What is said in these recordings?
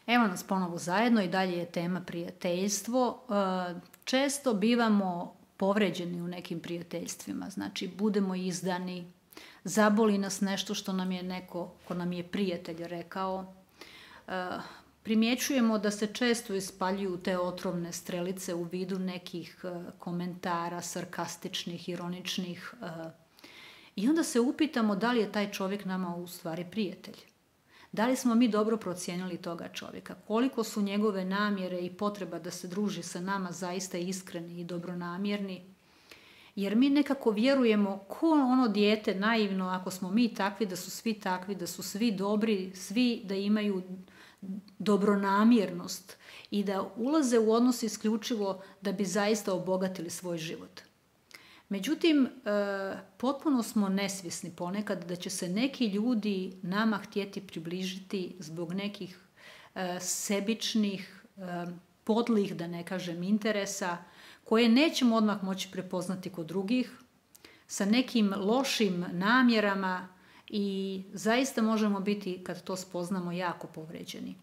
Evo nas ponovo zajedno i dalje je tema prijateljstvo. Često bivamo povređeni u nekim prijateljstvima, znači budemo izdani, zaboli nas nešto što nam je neko ko nam je prijatelj rekao. Primjećujemo da se često ispaljuju te otrovne strelice u vidu nekih komentara, sarkastičnih, ironičnih, i onda se upitamo da li je taj čovjek nama u stvari prijatelj. Da li smo mi dobro procijenili toga čovjeka? Koliko su njegove namjere i potreba da se druži sa nama zaista iskreni i dobronamjerni? Jer mi nekako vjerujemo ko ono dijete naivno, ako smo mi takvi, da su svi takvi, da su svi dobri, svi da imaju dobronamjernost i da ulaze u odnos isključivo da bi zaista obogatili svoj život. Međutim, potpuno smo nesvjesni ponekad da će se neki ljudi nama htjeti približiti zbog nekih sebičnih, podlih, da ne kažem, interesa, koje nećemo odmah moći prepoznati kod drugih, sa nekim lošim namjerama i zaista možemo biti, kad to spoznamo, jako povređeni.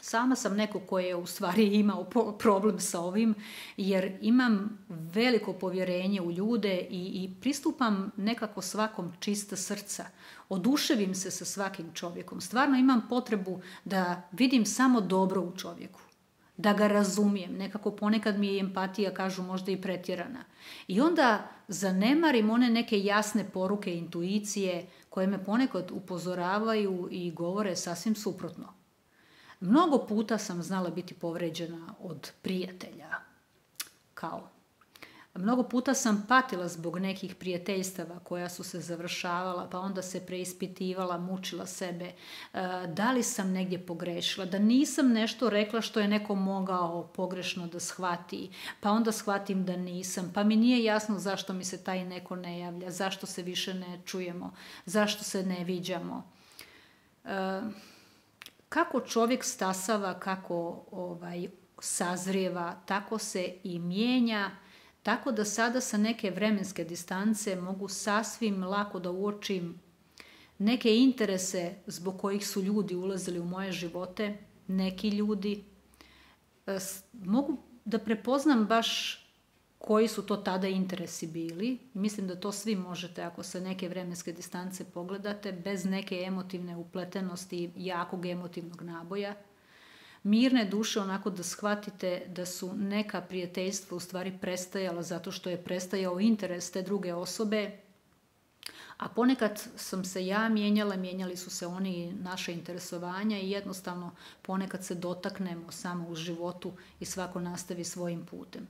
Sama sam neko koji je u stvari imao problem sa ovim, jer imam veliko povjerenje u ljude i pristupam nekako svakom čista srca. Oduševim se sa svakim čovjekom. Stvarno imam potrebu da vidim samo dobro u čovjeku, da ga razumijem. Nekako ponekad mi je empatija, kažu, možda i pretjerana. I onda zanemarim one neke jasne poruke, intuicije, koje me ponekad upozoravaju i govore sasvim suprotno. Mnogo puta sam znala biti povređena od prijatelja. Mnogo puta sam patila zbog nekih prijateljstava koja su se završavala, pa onda se preispitivala, mučila sebe. Da li sam negdje pogrešila, da nisam nešto rekla što je neko mogao pogrešno da shvati, pa onda shvatim da nisam, pa mi nije jasno zašto mi se taj neko ne javlja, zašto se više ne čujemo, zašto se ne viđamo. Kako čovjek stasava, kako sazrijeva, tako se i mijenja, tako da sada sa neke vremenske distance mogu sasvim lako da uočim neke interese zbog kojih su ljudi ulazili u moje živote, neki ljudi. Mogu da prepoznam baš koji su to tada interesi bili. Mislim da to svi možete ako sa neke vremenske distance pogledate, bez neke emotivne upletenosti i jakog emotivnog naboja. Mirne duše, onako da shvatite da su neka prijateljstva u stvari prestajala zato što je prestajao interes te druge osobe, a ponekad sam se ja mijenjala, mijenjali su se oni, naše interesovanja, i jednostavno ponekad se dotaknemo samo u životu i svako nastavi svojim putem.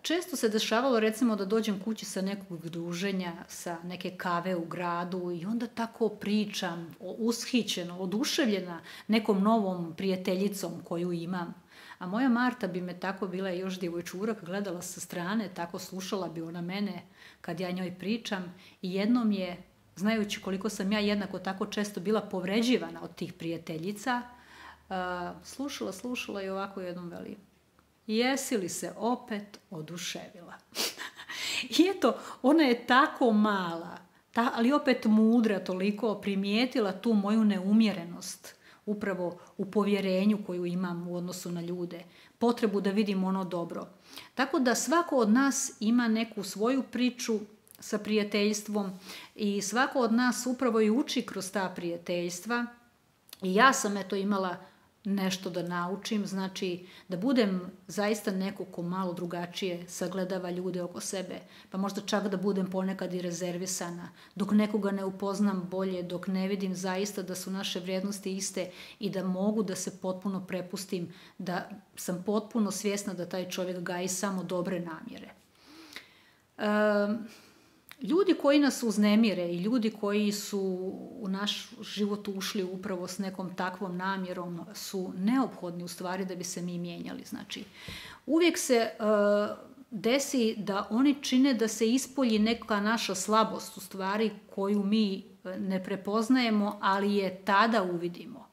Često se dešavalo, recimo, da dođem kući sa nekog druženja, sa neke kave u gradu, i onda tako pričam, ushićeno, oduševljena nekom novom prijateljicom koju imam. A moja Marta bi me tako, bila je još djevojčurak, gledala sa strane, tako slušala bi ona mene kad ja njoj pričam, i jednom je, znajući koliko sam ja jednako tako često bila povređivana od tih prijateljica, slušala i ovako jednom veli: jesi li se opet oduševila? I eto, ona je tako mala, ali opet mudra, toliko primijetila tu moju neumjerenost, upravo u povjerenju koju imam u odnosu na ljude, potrebu da vidim ono dobro. Tako da svako od nas ima neku svoju priču sa prijateljstvom i svako od nas upravo i uči kroz ta prijateljstva. I ja sam imala nešto da naučim, znači da budem zaista neko ko malo drugačije sagledava ljude oko sebe, pa možda čak da budem ponekad i rezervisana, dok nekoga ne upoznam bolje, dok ne vidim zaista da su naše vrijednosti iste i da mogu da se potpuno prepustim, da sam potpuno svjesna da taj čovjek gaji samo dobre namjere. Ljudi koji nas uznemire i ljudi koji su u naš život ušli upravo s nekom takvom namjerom su neophodni u stvari da bi se mi mijenjali. Znači, uvijek se desi da oni čine da se ispolji neka naša slabost u stvari koju mi ne prepoznajemo, ali je tada uvidimo.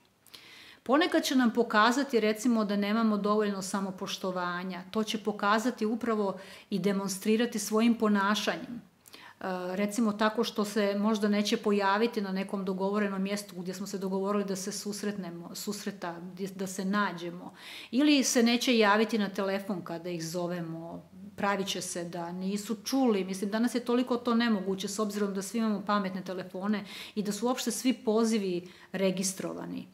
Ponekad će nam pokazati, recimo, da nemamo dovoljno samopoštovanja. To će pokazati upravo i demonstrirati svojim ponašanjem. recimo tako što se možda neće pojaviti na nekom dogovorenom mjestu gdje smo se dogovorili da se susreta, da se nađemo, ili se neće javiti na telefon kada ih zovemo, pravit će se da nisu čuli. Mislim, danas je toliko to nemoguće s obzirom da svi imamo pametne telefone i da su uopšte svi pozivi registrovani.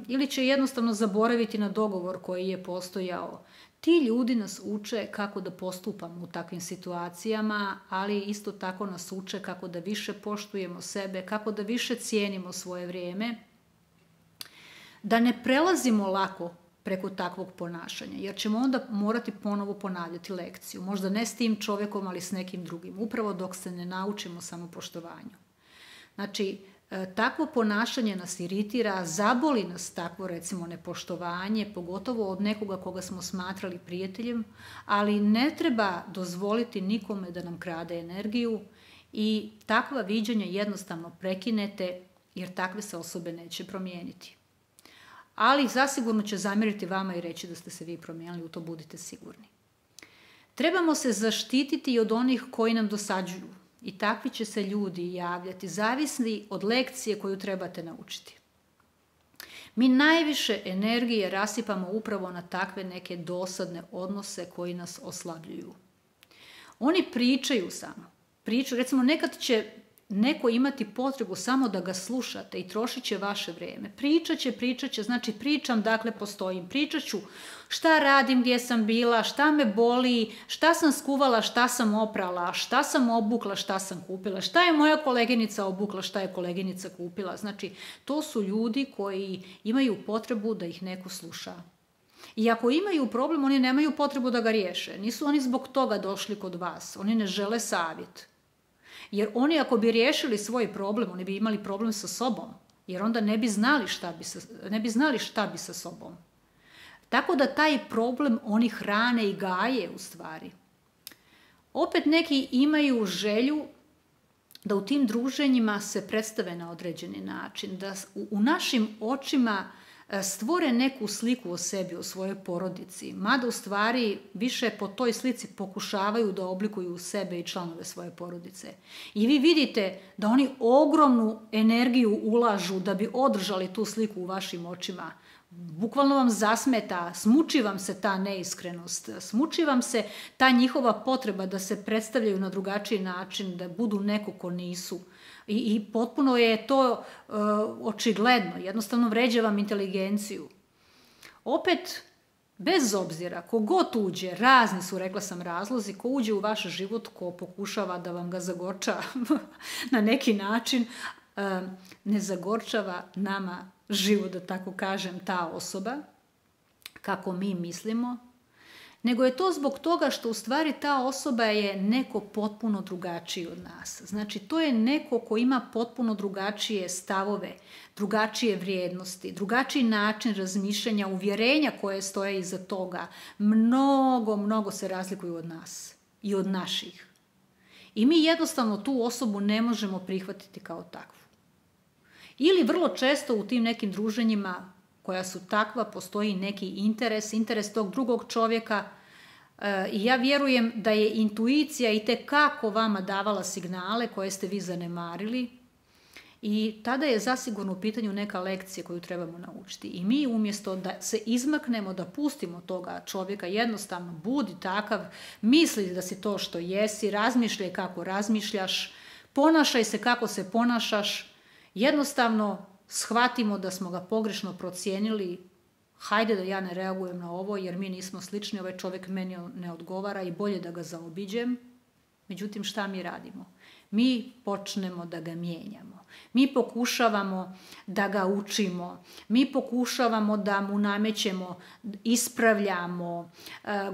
Ili će jednostavno zaboraviti na dogovor koji je postojao. Ti ljudi nas uče kako da postupamo u takvim situacijama, ali isto tako nas uče kako da više poštujemo sebe, kako da više cijenimo svoje vrijeme, da ne prelazimo lako preko takvog ponašanja, jer ćemo onda morati ponovo ponavljati lekciju. Možda ne s tim čovjekom, ali s nekim drugim, upravo dok se ne naučimo samopoštovanju. Znači, takvo ponašanje nas iritira, zaboli nas takvo recimo nepoštovanje, pogotovo od nekoga koga smo smatrali prijateljem, ali ne treba dozvoliti nikome da nam krade energiju i takva viđenja jednostavno prekinete, jer takve se osobe neće promijeniti. Ali zasigurno će zamjeriti vama i reći da ste se vi promijenili, u to budite sigurni. Trebamo se zaštititi i od onih koji nam dosađuju. I takvi će se ljudi javljati, zavisni od lekcije koju trebate naučiti. Mi najviše energije rasipamo upravo na takve neke dosadne odnose koji nas oslabljuju. Oni pričaju samo. Recimo, nekad će neko imati potrebu samo da ga slušate i trošit će vaše vrijeme. Pričat će, znači pričam, dakle postojim. Pričat ću šta radim, gdje sam bila, šta me boli, šta sam skuvala, šta sam oprala, šta sam obukla, šta sam kupila, šta je moja koleginica obukla, šta je koleginica kupila. Znači, to su ljudi koji imaju potrebu da ih neko sluša. I ako imaju problem, oni nemaju potrebu da ga riješe. Nisu oni zbog toga došli kod vas. Oni ne žele savjet. Jer oni ako bi riješili svoj problem, oni bi imali problem sa sobom. Jer onda ne bi znali šta bi sa sobom. Tako da taj problem oni hrane i gaje u stvari. Opet neki imaju želju da u tim druženjima se predstave na određeni način. Da u našim očima stvore neku sliku o sebi, o svojoj porodici, mada u stvari više po toj slici pokušavaju da oblikuju sebe i članove svoje porodice. I vi vidite da oni ogromnu energiju ulažu da bi održali tu sliku u vašim očima. Bukvalno vam zasmeta, smuči vam se ta neiskrenost, smuči vam se ta njihova potreba da se predstavljaju na drugačiji način, da budu neko ko nisu. I potpuno je to očigledno, jednostavno vređa vam inteligenciju. Opet, bez obzira, kogod uđe, razni su, rekla sam, razlozi, ko uđe u vaš život, ko pokušava da vam ga zagorča na neki način, ne zagorčava nama život, da tako kažem, ta osoba, kako mi mislimo, nego je to zbog toga što u stvari ta osoba je neko potpuno drugačiji od nas. Znači, to je neko ko ima potpuno drugačije stavove, drugačije vrijednosti, drugačiji način razmišljanja, uvjerenja koje stoje iza toga. Mnogo se razlikuju od nas i od naših. I mi jednostavno tu osobu ne možemo prihvatiti kao takvu. Ili vrlo često u tim nekim druženjima koja su takva, postoji neki interes tog drugog čovjeka i ja vjerujem da je intuicija itekako vama davala signale koje ste vi zanemarili i tada je zasigurno u pitanju neka lekcija koju trebamo naučiti. I mi umjesto da se izmaknemo, da pustimo toga čovjeka, jednostavno budi takav, misli da si to što jesi, razmišljaj kako razmišljaš, ponašaj se kako se ponašaš, jednostavno shvatimo da smo ga pogrešno procijenili, hajde da ja ne reagujem na ovo jer mi nismo slični, ovaj čovjek meni ne odgovara i bolje da ga zaobiđem. Međutim, šta mi radimo? Mi počnemo da ga mijenjamo. Mi pokušavamo da ga učimo. Mi pokušavamo da mu namećemo, ispravljamo.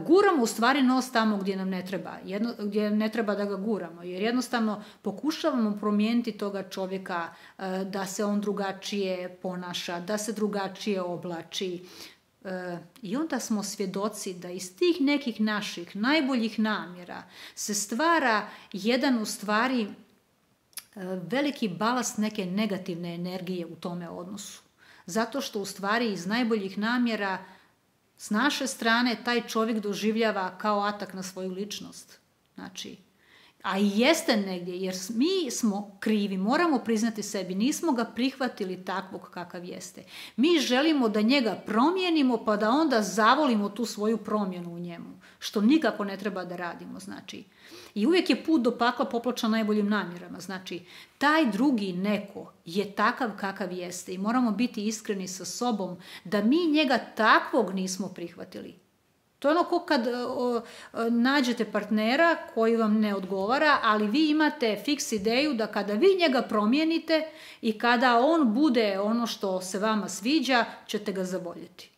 Guramo u stvari nos tamo gdje nam ne treba. Gdje ne treba da ga guramo. Jer jednostavno pokušavamo promijeniti toga čovjeka da se on drugačije ponaša, da se drugačije oblači. I onda smo svjedoci da iz tih nekih naših najboljih namjera se stvara jedan u stvari veliki balast neke negativne energije u tome odnosu. Zato što u stvari iz najboljih namjera s naše strane taj čovjek doživljava kao atak na svoju ličnost. Znači, A i jeste negdje, jer mi smo krivi, moramo priznati sebi, nismo ga prihvatili takvog kakav jeste. Mi želimo da njega promijenimo, pa da onda zavolimo tu svoju promjenu u njemu, što nikako ne treba da radimo, znači. I uvijek je put do pakla popločan najboljim namjerama, znači, taj drugi neko je takav kakav jeste i moramo biti iskreni sa sobom da mi njega takvog nismo prihvatili. To je ono kao kad nađete partnera koji vam ne odgovara, ali vi imate fiks ideju da kada vi njega promijenite i kada on bude ono što se vama sviđa, ćete ga zavoljeti.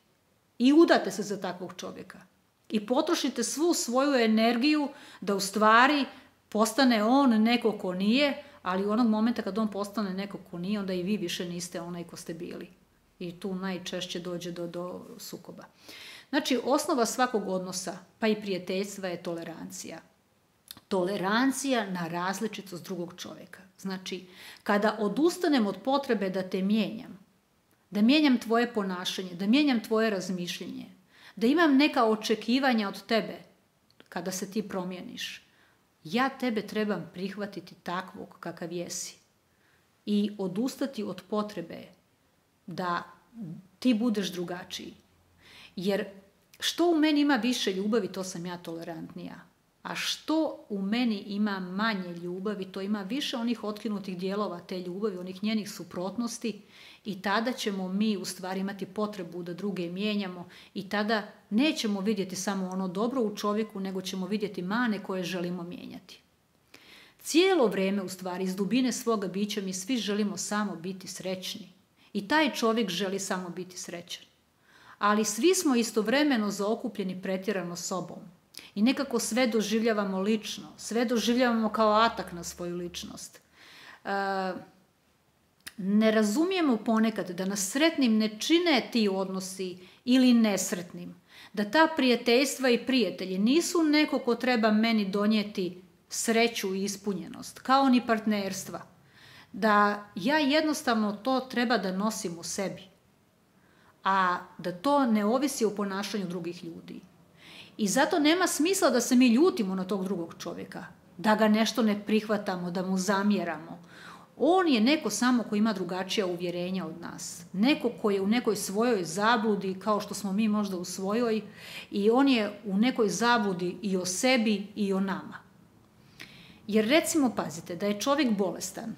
I udate se za takvog čovjeka. I potrošite svu svoju energiju da u stvari postane on neko ko nije, ali onog momenta kad on postane neko ko nije, onda i vi više niste onaj ko ste bili. I tu najčešće dođe do sukoba. Znači, osnova svakog odnosa, pa i prijateljstva, je tolerancija. Tolerancija na različitost drugog čovjeka. Znači, kada odustanem od potrebe da te mijenjam, da mijenjam tvoje ponašanje, da mijenjam tvoje razmišljenje, da imam neka očekivanja od tebe kada se ti promijeniš, ja tebe trebam prihvatiti takvog kakav jesi i odustati od potrebe da ti budeš drugačiji. Jer što u meni ima više ljubavi, to sam ja tolerantnija. A što u meni ima manje ljubavi, to ima više onih otkinutih dijelova te ljubavi, onih njenih suprotnosti, i tada ćemo mi u stvari imati potrebu da druge mijenjamo i tada nećemo vidjeti samo ono dobro u čovjeku, nego ćemo vidjeti mane koje želimo mijenjati. Cijelo vrijeme u stvari iz dubine svoga bića mi svi želimo samo biti srećni. I taj čovjek želi samo biti srećan. Ali svi smo istovremeno zaokupljeni pretjerano sobom. I nekako sve doživljavamo lično, sve doživljavamo kao atak na svoju ličnost. Ne razumijemo ponekad da nas sretnim ne čine ti odnosi ili nesretnim. Da ta prijateljstva i prijatelji nisu neko ko treba meni donijeti sreću i ispunjenost, kao ni partnerstva. Da ja jednostavno to treba da nosim u sebi, a da to ne ovisi o ponašanju drugih ljudi. I zato nema smisla da se mi ljutimo na tog drugog čovjeka, da ga nešto ne prihvatamo, da mu zamjeramo. On je neko samo ko ima drugačija uvjerenja od nas. Neko ko je u nekoj svojoj zabludi, kao što smo mi možda u svojoj, i on je u nekoj zabludi i o sebi i o nama. Jer recimo, pazite, da je čovjek bolestan,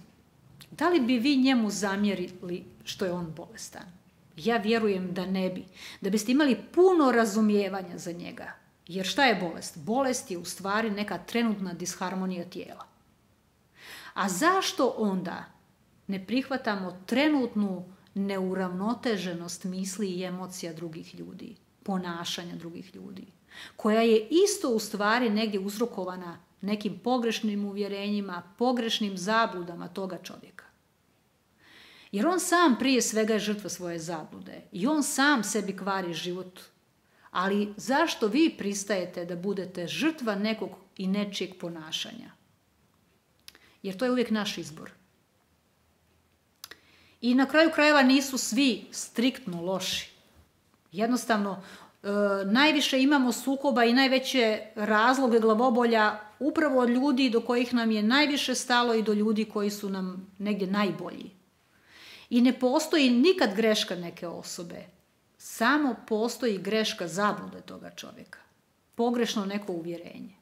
da li bi vi njemu zamjerili što je on bolestan? Ja vjerujem da ne bi. Da biste imali puno razumijevanja za njega. Jer šta je bolest? Bolest je u stvari neka trenutna disharmonija tijela. A zašto onda ne prihvatamo trenutnu neuravnoteženost misli i emocija drugih ljudi, ponašanja drugih ljudi, koja je isto u stvari negdje uzrokovana nekim pogrešnim uvjerenjima, pogrešnim zabludama toga čovjeka? Jer on sam prije svega je žrtva svoje zablude i on sam sebi kvari život. Ali zašto vi pristajete da budete žrtva nekog i nečijeg ponašanja? Jer to je uvijek naš izbor. I na kraju krajeva nisu svi striktno loši. Jednostavno, najviše imamo sukoba i najveće razloge glavobolja upravo od ljudi do kojih nam je najviše stalo i do ljudi koji su nam negdje najbolji. I ne postoji nikad greška neke osobe. Samo postoji greška zablude toga čovjeka. Pogrešno neko uvjerenje.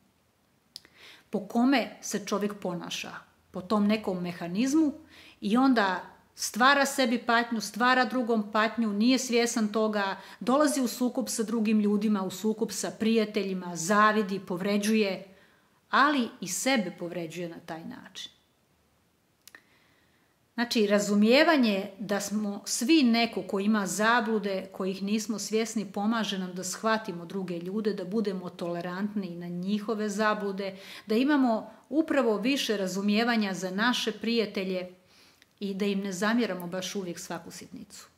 Po kome se čovjek ponaša? Po tom nekom mehanizmu i onda stvara sebi patnju, stvara drugom patnju, nije svjestan toga, dolazi u sukob sa drugim ljudima, u sukob sa prijateljima, zavidi, povređuje, ali i sebe povređuje na taj način. Znači, razumijevanje da smo svi neko ko ima zablude, kojih nismo svjesni, pomaže nam da shvatimo druge ljude, da budemo tolerantni na njihove zablude, da imamo upravo više razumijevanja za naše prijatelje i da im ne zamjeramo baš uvijek svaku sitnicu.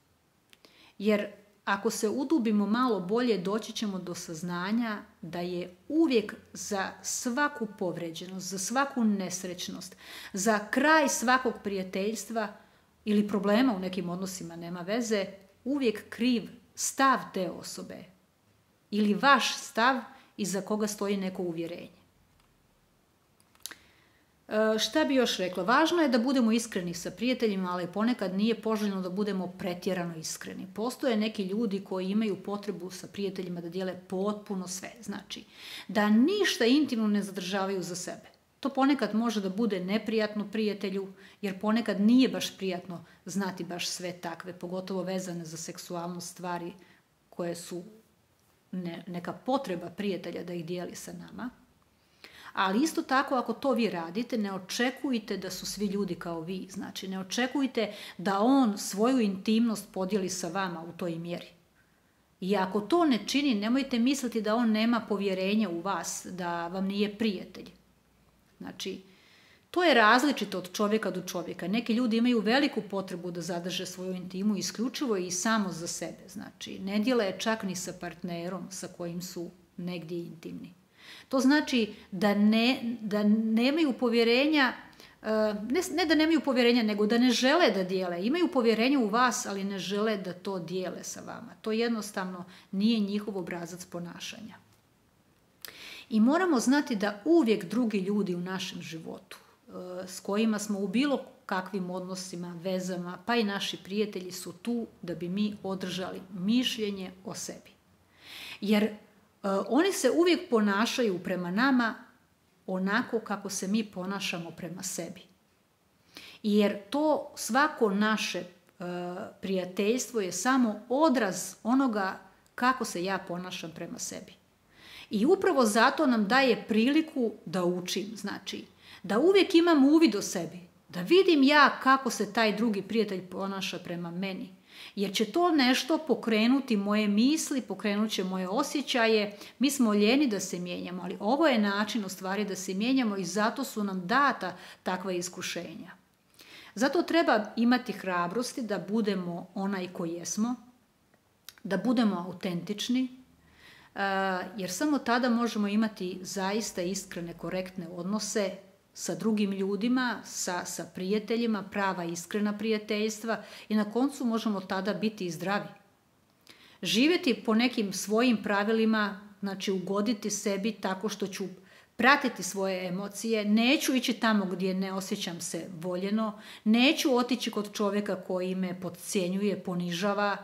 Jer ako se udubimo malo bolje, doći ćemo do saznanja da je uvijek za svaku povređenost, za svaku nesrećnost, za kraj svakog prijateljstva ili problema u nekim odnosima, nema veze, uvijek kriv stav te osobe ili vaš stav iza koga stoji neko uvjerenje. Šta bi još rekla? Važno je da budemo iskreni sa prijateljima, ali ponekad nije poželjno da budemo pretjerano iskreni. Postoje neki ljudi koji imaju potrebu sa prijateljima da dijele potpuno sve. Znači, da ništa intimno ne zadržavaju za sebe. To ponekad može da bude neprijatno prijatelju, jer ponekad nije baš prijatno znati baš sve takve, pogotovo vezane za seksualnu stvari koje su neka potreba prijatelja da ih dijeli sa nama. Ali isto tako, ako to vi radite, ne očekujte da su svi ljudi kao vi. Znači, ne očekujte da on svoju intimnost podijeli sa vama u toj mjeri. I ako to ne čini, nemojte misliti da on nema povjerenja u vas, da vam nije prijatelj. Znači, to je različito od čovjeka do čovjeka. Neki ljudi imaju veliku potrebu da zadrže svoju intimu isključivo i samo za sebe. Znači, ne dijele je čak ni sa partnerom sa kojim su negdje intimni. To znači da nemaju povjerenja, ne da nemaju povjerenja, nego da ne žele da dijele. Imaju povjerenje u vas, ali ne žele da to dijele sa vama. To jednostavno nije njihov obrazac ponašanja. I moramo znati da uvijek drugi ljudi u našem životu, s kojima smo u bilo kakvim odnosima, vezama, pa i naši prijatelji su tu da bi mi održali mišljenje o sebi. Jer oni se uvijek ponašaju prema nama onako kako se mi ponašamo prema sebi. Jer to svako naše prijateljstvo je samo odraz onoga kako se ja ponašam prema sebi. I upravo zato nam daje priliku da učim, znači da uvijek imam uvid o sebi, da vidim ja kako se taj drugi prijatelj ponaša prema meni. Jer će to nešto pokrenuti moje misli, pokrenut će moje osjećaje. Mi smo ljeni da se mijenjamo, ali ovo je način u stvari da se mijenjamo i zato su nam data takva iskušenja. Zato treba imati hrabrosti da budemo onaj koji jesmo, da budemo autentični, jer samo tada možemo imati zaista iskrene, korektne odnose sa drugim ljudima, sa prijateljima, prava iskrena prijateljstva i na koncu možemo tada biti i zdravi. Živjeti po nekim svojim pravilima, znači ugoditi sebi tako što ću pratiti svoje emocije, neću ići tamo gdje ne osjećam se voljeno, neću otići kod čovjeka koji me podcjenjuje, ponižava,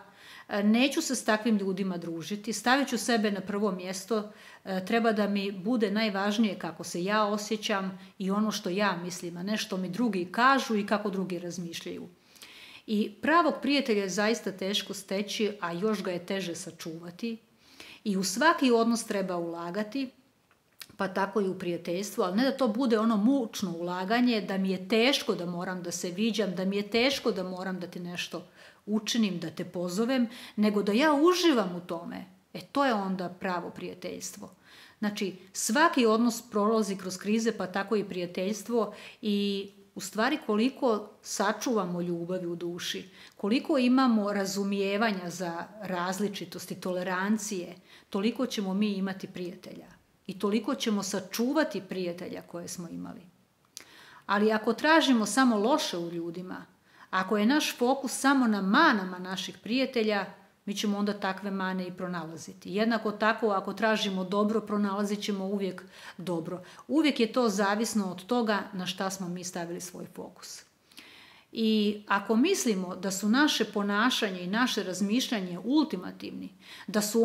neću se s takvim ljudima družiti, stavit ću sebe na prvo mjesto, treba da mi bude najvažnije kako se ja osjećam i ono što ja mislim, a ne što mi drugi kažu i kako drugi razmišljaju. I pravog prijatelja je zaista teško steći, a još ga je teže sačuvati. I u svaki odnos treba ulagati, pa tako i u prijateljstvu, ali ne da to bude ono mučno ulaganje, da mi je teško da moram da se viđam, da mi je teško da moram da ti nešto učinim, da te pozovem, nego da ja uživam u tome. To je onda pravo prijateljstvo. Znači, svaki odnos prolazi kroz krize, pa tako i prijateljstvo i u stvari koliko sačuvamo ljubavi u duši, koliko imamo razumijevanja za različitosti, tolerancije, toliko ćemo mi imati prijatelja i toliko ćemo sačuvati prijatelja koje smo imali. Ali ako tražimo samo loše u ljudima, ako je naš fokus samo na manama naših prijatelja, mi ćemo onda takve mane i pronalaziti. Jednako tako, ako tražimo dobro, pronalazit ćemo uvijek dobro. Uvijek je to zavisno od toga na šta smo mi stavili svoj fokus. I ako mislimo da su naše ponašanje i naše razmišljanje ultimativni, da su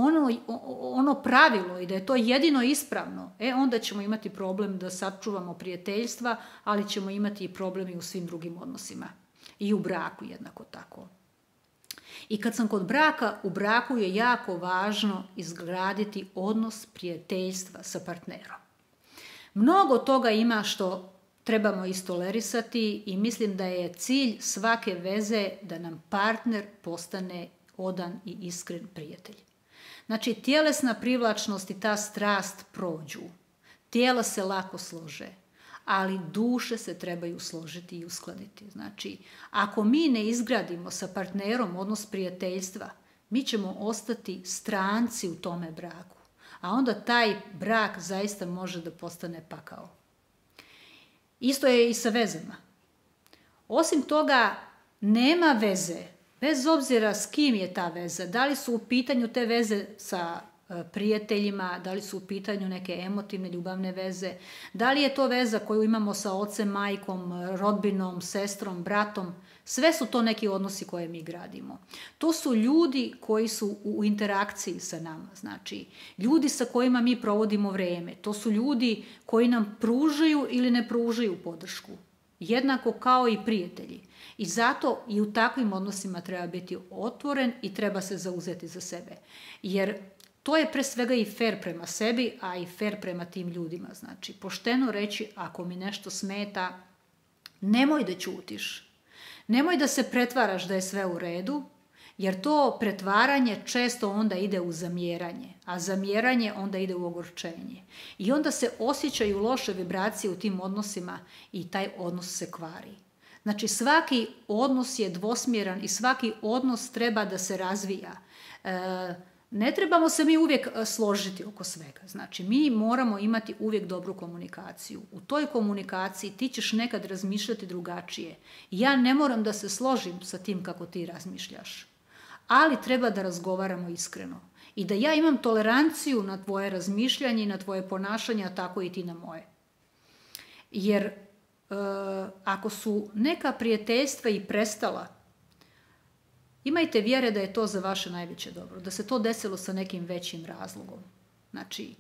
ono pravilo i da je to jedino ispravno, onda ćemo imati problem da sačuvamo prijateljstva, ali ćemo imati i problem i u svim drugim odnosima. I u braku jednako tako. I kad sam kod braka, u braku je jako važno izgraditi odnos prijateljstva sa partnerom. Mnogo toga ima što trebamo istolerisati i mislim da je cilj svake veze da nam partner postane odan i iskren prijatelj. Znači, tjelesna privlačnost i ta strast prođu. Tijela se lako slože, ali duše se trebaju složiti i uskladiti. Znači, ako mi ne izgradimo sa partnerom odnos prijateljstva, mi ćemo ostati stranci u tome braku, a onda taj brak zaista može da postane pakao. Isto je i sa vezama. Osim toga, nema veze, bez obzira s kim je ta veza, da li su u pitanju te veze sa prijateljima, da li su u pitanju neke emotivne ljubavne veze, da li je to veza koju imamo sa ocem, majkom, rodbinom, sestrom, bratom. Sve su to neki odnosi koje mi gradimo. To su ljudi koji su u interakciji sa nama, znači ljudi sa kojima mi provodimo vrijeme. To su ljudi koji nam pružaju ili ne pružaju podršku. Jednako kao i prijatelji. I zato i u takvim odnosima treba biti otvoren i treba se zauzeti za sebe. Jer to je pre svega i fair prema sebi, a i fair prema tim ljudima. Znači, pošteno reći, ako mi nešto smeta, nemoj da ćutiš. Nemoj da se pretvaraš da je sve u redu, jer to pretvaranje često onda ide u zamjeranje, a zamjeranje onda ide u ogorčenje. I onda se osjećaju loše vibracije u tim odnosima i taj odnos se kvari. Znači, svaki odnos je dvosmjeran i svaki odnos treba da se razvija. Ne trebamo se mi uvijek složiti oko svega. Znači, mi moramo imati uvijek dobru komunikaciju. U toj komunikaciji ti ćeš nekad razmišljati drugačije. Ja ne moram da se složim sa tim kako ti razmišljaš. Ali treba da razgovaramo iskreno. I da ja imam toleranciju na tvoje razmišljanje i na tvoje ponašanje, a tako i ti na moje. Jer ako su neka prijateljstva i prestala, imajte vjere da je to za vaše najveće dobro, da se to desilo sa nekim većim razlogom. Znači,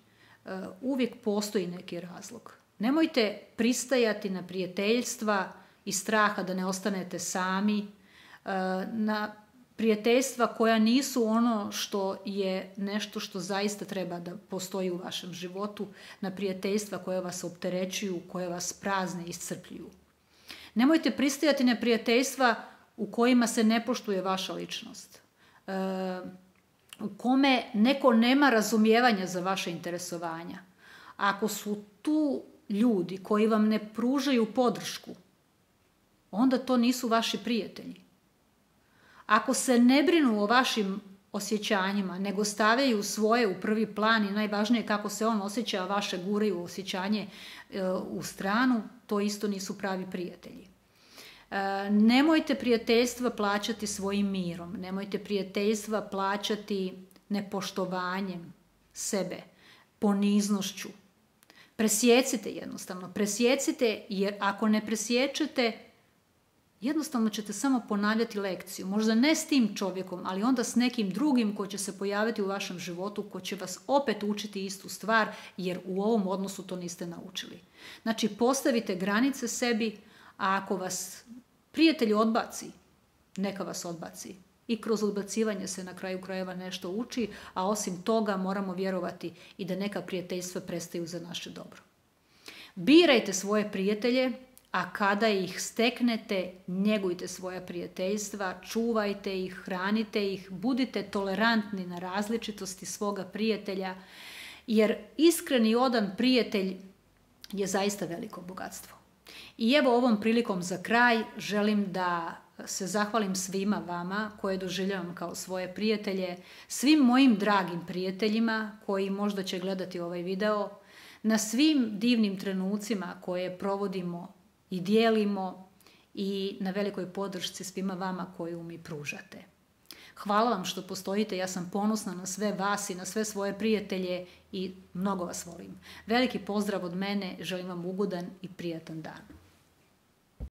uvijek postoji neki razlog. Nemojte pristajati na prijateljstva iz straha da ne ostanete sami, na prijateljstva koja nisu ono što je nešto što zaista treba da postoji u vašem životu, na prijateljstva koja vas opterećuju, koja vas prazne i iscrpljuju. Nemojte pristajati na prijateljstva u kojima se ne poštuje vaša ličnost, u kome neko nema razumijevanja za vaše interesovanja. Ako su tu ljudi koji vam ne pružaju podršku, onda to nisu vaši prijatelji. Ako se ne brinu o vašim osjećanjima, nego stavljaju svoje u prvi plan i najvažnije kako se on osjeća, a vaše guraju osjećanje u stranu, to isto nisu pravi prijatelji. Nemojte prijateljstva plaćati svojim mirom, nemojte prijateljstva plaćati nepoštovanjem sebe, poniznošću. Presjecite jednostavno, presjecite, jer ako ne presječete, jednostavno ćete samo ponavljati lekciju. Možda ne s tim čovjekom, ali onda s nekim drugim ko će se pojaviti u vašem životu, ko će vas opet učiti istu stvar, jer u ovom odnosu to niste naučili. Znači, postavite granice sebi, a ako vas prijatelj odbaci, neka vas odbaci. I kroz odbacivanje se na kraju krajeva nešto uči, a osim toga moramo vjerovati i da neka prijateljstva prestaju za naše dobro. Birajte svoje prijatelje, a kada ih steknete, njegujte svoja prijateljstva, čuvajte ih, hranite ih, budite tolerantni na različitosti svoga prijatelja, jer iskren i odan prijatelj je zaista veliko bogatstvo. I evo ovom prilikom za kraj želim da se zahvalim svima vama koje doživljavam kao svoje prijatelje, svim mojim dragim prijateljima koji možda će gledati ovaj video, na svim divnim trenucima koje provodimo i dijelimo i na velikoj podršci svima vama koju mi pružate. Hvala vam što postojite, ja sam ponosna na sve vas i na sve svoje prijatelje i mnogo vas volim. Veliki pozdrav od mene, želim vam ugodan i prijatan dan.